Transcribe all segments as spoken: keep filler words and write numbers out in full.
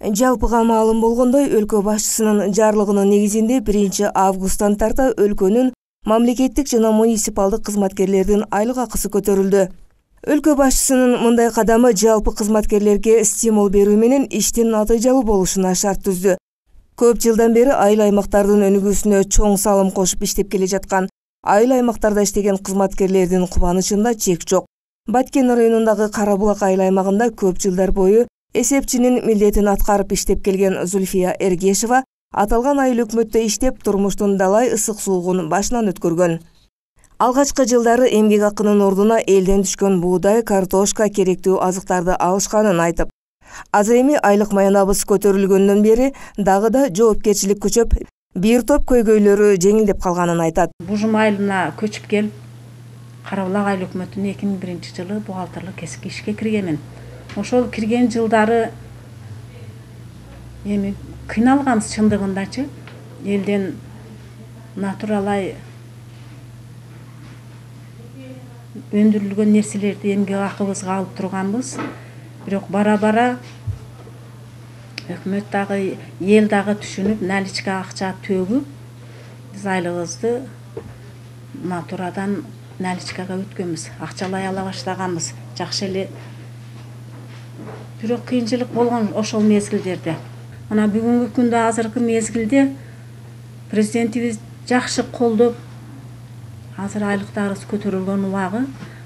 Жалпыга маалым болгондой, өлкө башчысынын жарлыгынын негизинде биринчи августтан тарта өлкөнүн мамлекеттик жана муниципалдык кызматкерлердин айлык акысы көтөрүлдү. Өлкө башчысынын мындай кадамы жалпы кызматкерлерге стимул берүү менен иштин натыйжалуу болушуна шарт түздү. Көп жылдан бери айыл аймактардын өнүгүүсүнө чоң салым кошуп иштеп келе жаткан айыл аймактарда иштеген кызматкерлердин кубанычында чек жок. Баткен районундагы Кара Булак айыл аймагында көп жылдар бою эсепчинин милдетин аткарып иштеп келген Зульфия Эргешева аталган айыл өкмөттө иштеп турмуштун далай ысык суугун башынан өткөргөн. Алгачкы жылдары эмгек акынын ордуна элден түшкөн буудай, картошка керектүү азыктарды алышканын айтып, азыр эми айлык маянабыз көтөрүлгөндөн бери дагы да жоопкерчилик күчөп, бир топ көйгөйлөрү жеңилдеп калганын айтат. Бужум айылына көчүп келип, Кара Булак айыл өкмөтүнө эки миң биринчи жылы бухгалтерлик кесипке ишке киргенмин. Ошол кирген жылдары эми кыйналганбыз чындыгындачы. Элден натуралай өндүрүлгөн нерселерди эмгек акыбызга алып турганбыз. Бирок бара-бара өкмөт дагы, эл дагы түшүнүп, наличка акча төгүп, биз айлыгыбызды натурадан наличкага өткөнбүз. Акчалай ала баштаганбыз. Жакшы эле. Бирок кыйынчылык болгон ошол мезгилдерде. Мына бүгүнкү күндө, азыркы мезгилде президентибиз жакшы колдоп, азыр айлыктарыбыз көтөрүлгөн убагы.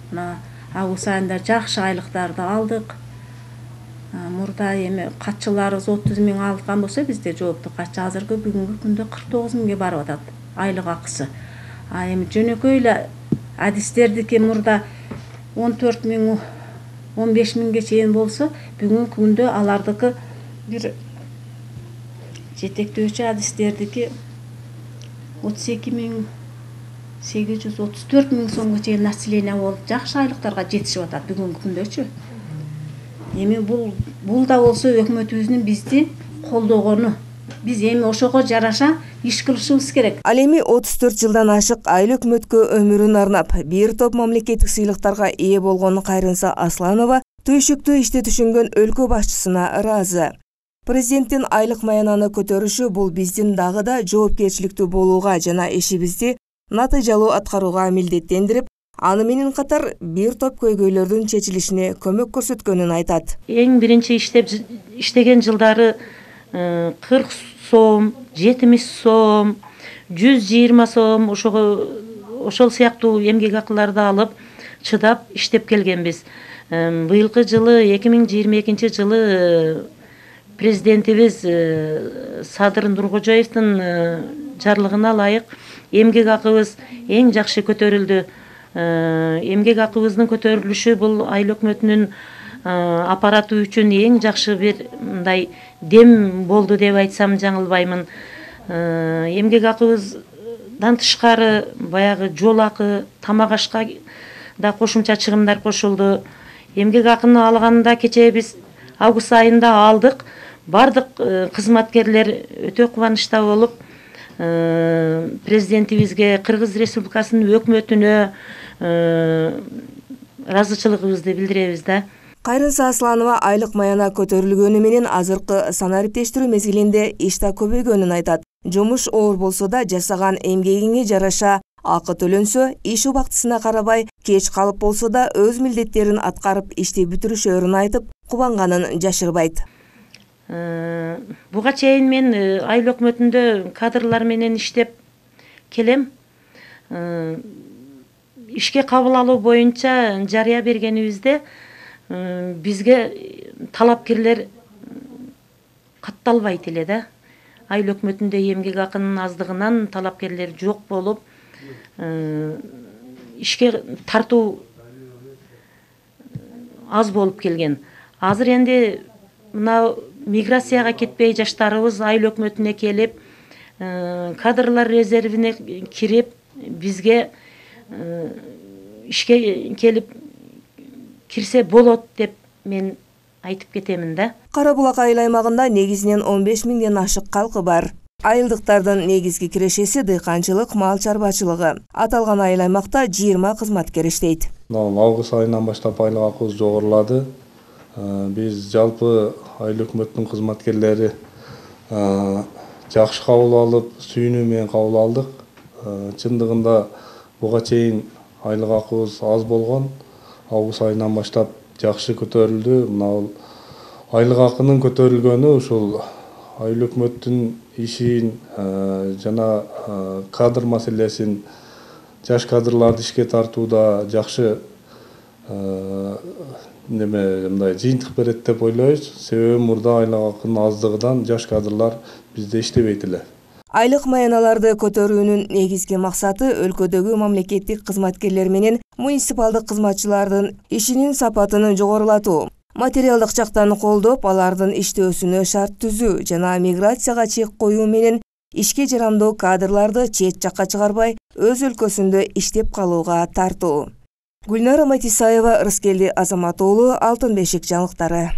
Мына август айында жакшы айлыктарды алдык. Мурда эми катчыларыбыз отуз миң алган болсо, бизде жооптук катчы азыркы бүгүнкү күндө кырк тогуз миңге барып атат айлык акысы. А эми жөнөкөй эле адистердики мурда он төрт миң, он беш миңге чейин болсо, бүгүнкү күндө алардыкы бир жетектөөчү адистердики отуз эки миң сегиз жүз отуз төрт миң сомго чейин население болуп, жакшы айлыктарга жетишип атат бүгүнкү күндөчү. Эми бул бул да болсо өкмөтүбүздүн бизди колдогону. Биз эми ошого жараша иш кылышыбыз керек. Ал эми отуз төрт жылдан ашык айыл өкмөткө өмүрүн арнап, бир топ мамлекеттик сыйлыктарга ээ болгон Кайрынса Асланова түйшүктүү ишти түшүнгөн өлкө башчысына ыраазы. Президенттин айлык маянаны көтөрүшү бул биздин дагы да жоопкерчиликтүү болууга жана ишибизди натыйжалуу аткарууга милдеттендирип, аны менен катар бир топ көйгөйлөрдүн чечилишине көмөк көрсөткөнүн айтат. Эң биринчи иштеп иштеген жылдары кырк сом, жетимиш сом, жүз жыйырма сом ошого ошол сыяктуу эмгек акыларды алып чыдап иштеп келгенбиз. Быйылкы жылы эки миң жыйырма экинчи жылы президентибиз Садыр Нуркожоевдун жарлыгына ылайык эмгек акыбыз эң жакшы көтөрүлдү. Эмгек акыбыздын көтөрүлүшү бул айыл өкмөтүнүн аппараты үчүн эң жакшы бир мындай дем болду деп айтсам жаңылбаймын. Эмгек акыбыздан тышкары баягы жол акы, тамак ашка да кошумча чыгымдар кошулду. Эмгек акыны алганда кечээ биз август айында алдык. Бардык кызматкерлер өтө кубанычта болуп, президентибизге, Кыргыз Республикасынын өкмөтүнө ыраазычылыгыбызды билдиребиз да. Кайрынса Асланова айлык маяна көтөрүлгөнү менен азыркы санариптештирүү мезгилинде иш да көбөйгөнүн айтат. Жумуш оор болсо да жасаган эмгегиңе жараша акы төлөнсө, иш убактысына карабай, кеч калып болсо да өз милдеттерин аткарып ишти бүтүрүшөрүн айтып, кубанганын жашырбайт. Буга чейин мен айыл өкмөтүндө кадрлар менен иштеп келем. Ишке кабыл алуу боюнча жарыя бергенибизде бизге талапкерлер катталбайт эле да. Айыл өкмөтүндө эмгек акынын аздыгынан талапкерлер жок болуп, ишке тартуу аз болуп келген. Азыр энди мына миграцияга кетпей жаштарыбыз айыл өкмөтүнө келип, кадрлар резервине кирип, бизге ишке келип кирсе болот деп мен айтып кетемин да. Кара Булак айыл аймагында негизинен он беш миңден ашык калкы бар. Айылдыктардын негизги кирешеси дыйканчылык, мал чарбачылыгы. Аталган айыл аймакта жыйырма кызматкер иштейт. Август айынан баштап айлык акыбыз жогорулады. Биз жалпы айыл өкмөттүн кызматкерлери жакшы кабыл алып, сүйүнүү менен кабыл алдык. Чындыгында буга чейин айлык акыбыз аз болгон. Август айынан баштап жакшы көтөрүлдү. Мына айлык акынын көтөрүлгөнү ушул айыл өкмөттүн ишин жана кадр маселесин, жаш кадрларды ишке тартууда жакшы неме мындай жыйынтык берет деп ойлойбуз. Себеби мурда айлык акынын аздыгынан жаш кадрлар бизде иштебейт эле. Айлык маяналарды көтөрүүнүн негизги максаты өлкөдөгү мамлекеттик кызматкерлер менен муниципалдык кызматчылардын ишинин сапатын жогорулатуу, материалдык жактан колдоп, алардын иштөөсүнө шарт түзүү жана миграцияга чек коюу менен ишке жарамдуу кадрларды чет жакка чыгарбай, өз өлкөсүндө иштеп калууга тартуу. Гүлнара Матисаева, Рыскелди Азамат уулу, Алтын бешик жаңылыктары.